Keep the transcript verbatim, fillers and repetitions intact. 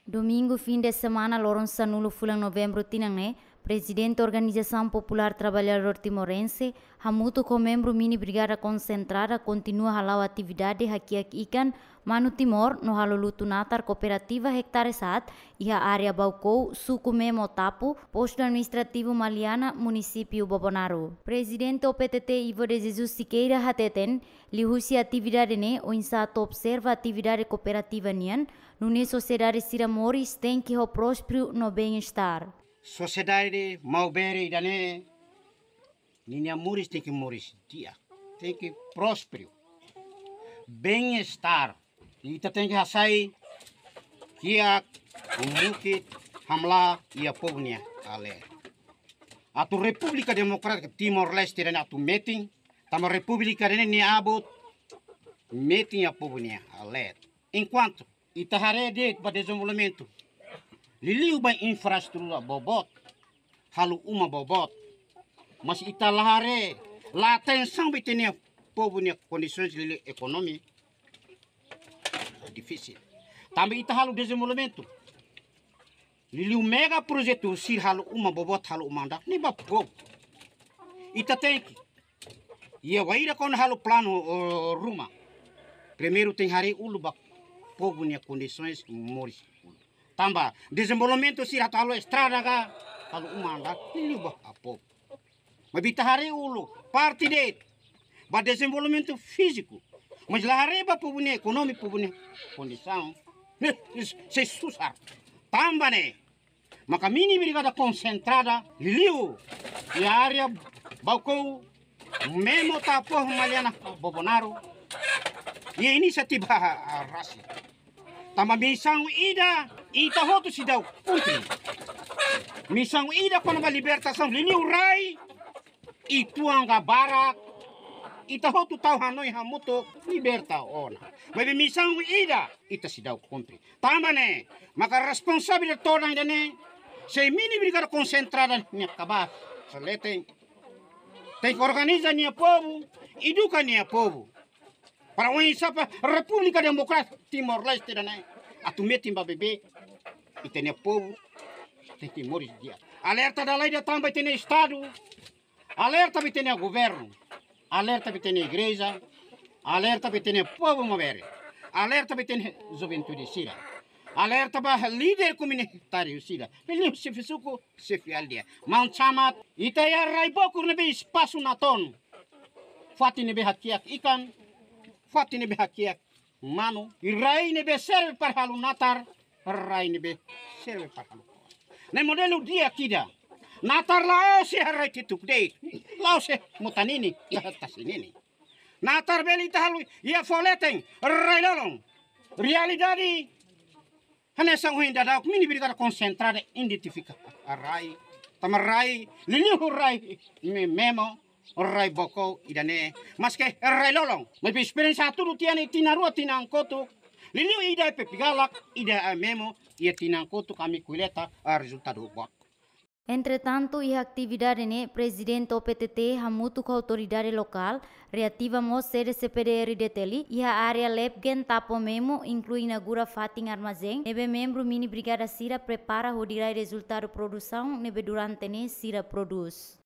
Domingu fin de semana loron sanulu fulan Novembru tinan ne'e, Prezidente Organizasaun Populár Traballadór Timorense, hamutuk ho membru mini brigada konsentrada kontinua hala'o atividade hakiak ikan, manu Timor no halo lutu natar kooperativa Hektare Saat, iha área Baucou, suku Memo Tapu, postu administrativu Maliana, munisípiu Bobonaro. Prezidente O P T T Ivo de Jesus Siqueira hateten, liuhusi atividade ne'e, oinsá atu observa atividade kooperativa nian, nune'e sosiedade sira moris tenke ho prósperu no bem-estar. Sosiedade maubere ida-ne'e, ninia moris tenke moris di'ak, tenke prósperu, bem-estar. Ita tenke hasai kiak, mukit, hamlaha iha povu nia aat. Atu Repúblika Demokrátika Timor-Leste ida-ne'e atu metin, tanba Repúblika ida-ne'e nia abut metin iha povu nia aat. Enkuantu ita haree de'it ba dezenvolvimentu, liuliu ba infraestrutura boboot, halo uma boboot, mas ita la haree, la atensaun ba ita-nia povu nia kondisoens liuliu ekonomia, difisil. Tanba ita halo dezenvolvimentu, liuliu megaprojetu sira halo uma boboot, halo uma andar, ne'e ba povu. Ita tenke, iha wainhira kona halo planu, o, ruma, primeiru tenke haree uluk ba povu nia kondisoens moris uluk. Tanba dezenvolvimentu sira atu halo estrada ka, halo uma andar, liuliu ba povu. Maibé ita haree uluk, parte de'it ba dezenvolvimentu fíziku, mas la haree ba povu nia ekonomia, povu nia kondisaun, ne'e, sei susar. Tanba ne'e maka mini brigada konsentrada, liuliu iha área Baucou, Memo Tapu, Maliana, Bobonaro, iha inisiativa rasik. Tanba misaun ida, ita hotu seidauk kumpre. Misaun ida kona-ba libertasaun, liuliu rai, uitoan ka barak, ita hotu tau hanoin hamutuk liberta ona. Maibé misaun ida, ita seidauk kumpre. Tanba ne'e maka responsabilidade todan ida-ne'e, se mini brigada konsentrada nia kabaas leten, tenke organiza nia povu, eduka nia povu, para oinsá ba Repúblika Demokrátika Timor-Leste ida-ne'e atu metin ba beibeik, ita-nia povu tenke moris di'ak. Alerta dala ida tan ba ita-nia Estadu, alerta ba ita-nia governu, alerta ba ita-nia igreja, alerta ba ita-nia povu maubere, alerta ba ita-nia juventude sira, alerta ba líder komunitáriu sira, liuliu xefe suku, xefe aldeia. Maun Camat, ita iha rai bokur ne'ebé espasu natoon, fatin ne'ebé hakiak ikan, fatin ne'ebé hakiak manu, i rai ne'ebé serve para halo natar, rai ne'ebé serve para halo. Ne'e modelu di'ak ida. Natar la'ós iha rai ketuk de'it, la'ós iha mota ninin, iha tasi ninin. Natar bele ita halo iha fó leten, rai lolon. Realidade, hanesan ohin daudauk mini brigada konsentrada identifika rai, tanba rai, liuliu rai Me-, Memo, rai Baucou ida-ne'e, maske rai lolon, maibé esperiénsia hatudu tiha ne'e tinan rua, tinan kotuk, liuliu ida Pepigalak, ida Memo, iha tinan kotuk ami koleta, ah, rezultadu boot. Entretantu, iha atividade ne'e, Prezidente O P T T hamutuk ho autoridade lokál reativa mós sede C P D R Detail iha área Lepgen Tapo Memo, inklui inaugura fatin armazén ne'ebé membru mini brigada sira prepara hodi rai rezultadu produsaun ne'ebé durante ne'e sira prodús.